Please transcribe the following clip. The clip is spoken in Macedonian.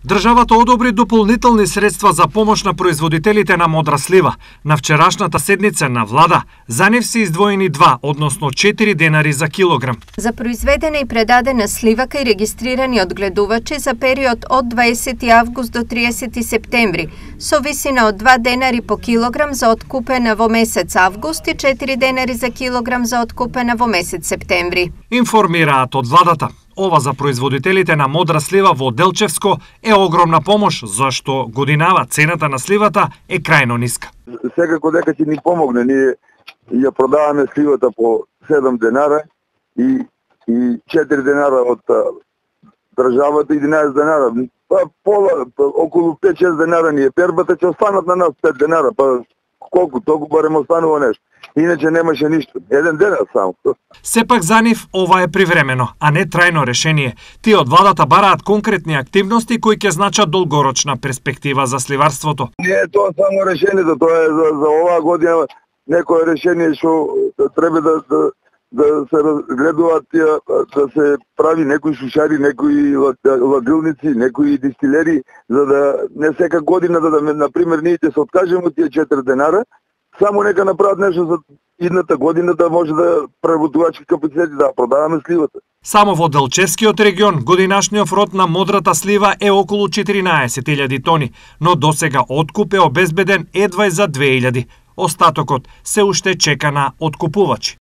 Државата одобри дополнителни средства за помош на производителите на модра слива. На вчерашната седница на влада за нив се издвоени 2, односно 4 денари за килограм. За произведена и предадена слива кај регистрирани одгледувачи за период од 20 август до 30 септември, со висина од 2 денари по килограм за откупена во месец август и 4 денари за килограм за откупена во месец септември. Информираат од владата. Ова за производителите на модра слива во Делчевско е огромна помош, зашто годинава цената на сливата е крајно ниска. Секако дека ќе ни помогне, ние ја продаваме сливата по 7 денара и 4 денара од државата, 11 денара. Околу 5-6 денара ни е пербата, ќе останат на нас 5 денара, па колку, толку барем останува нешто. Иначе немаше ништо. Еден ден само. Сепак за нив ова е привремено, а не трајно решение. Тие од владата бараат конкретни активности кои ќе значат долгорочна перспектива за сливарството. Не е тоа само решението, тоа е за оваа година некое решение што треба да се разгледуваат, да се прави некои сушари, некои лагилници, некои дистилери, за да не сека година например ние ќе се откажеме од тие 4 денара, само нека направат нешто за идната година да може да преработувачки капацитети да продаваме сливата. Само во Делчевскиот регион годинашниот род на модрата слива е околу 14.000 тони, но досега откуп е обезбеден едва за 2.000. Остатокот се уште чека на откупувачи.